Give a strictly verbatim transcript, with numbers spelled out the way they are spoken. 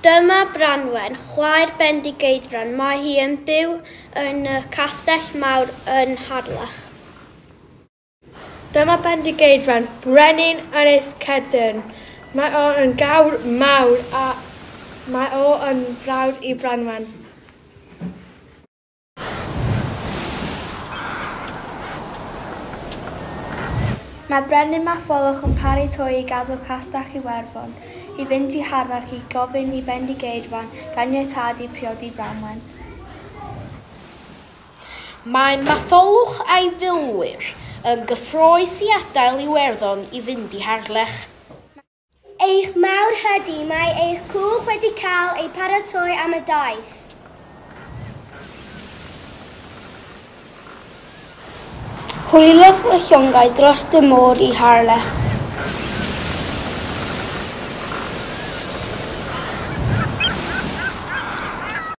Dyma Branwen, chwaer Bendigeidfran. Mae hi yn byw yn y Castell Mawr yn Harlech. Dyma Bendigeidfran, brenin Ynys Cedyrn. Mae o yn gawr mawr a mae o yn frawd i Branwen. Mae Brenin Matholwch yn paratoi i gadael Castell Iwerddon i fynd i Harlech i gofyn i Bendigeidfran ganiatâd i priodi Branwen. Mae Matholwch a'i filwyr yn gyffrous i adael Iwerddon i fynd i Harlech. Eich mawrhydi, mae eich cwch wedi cael ei paratoi am y daith. Hwyliodd y llongau dros y môr i Harlech.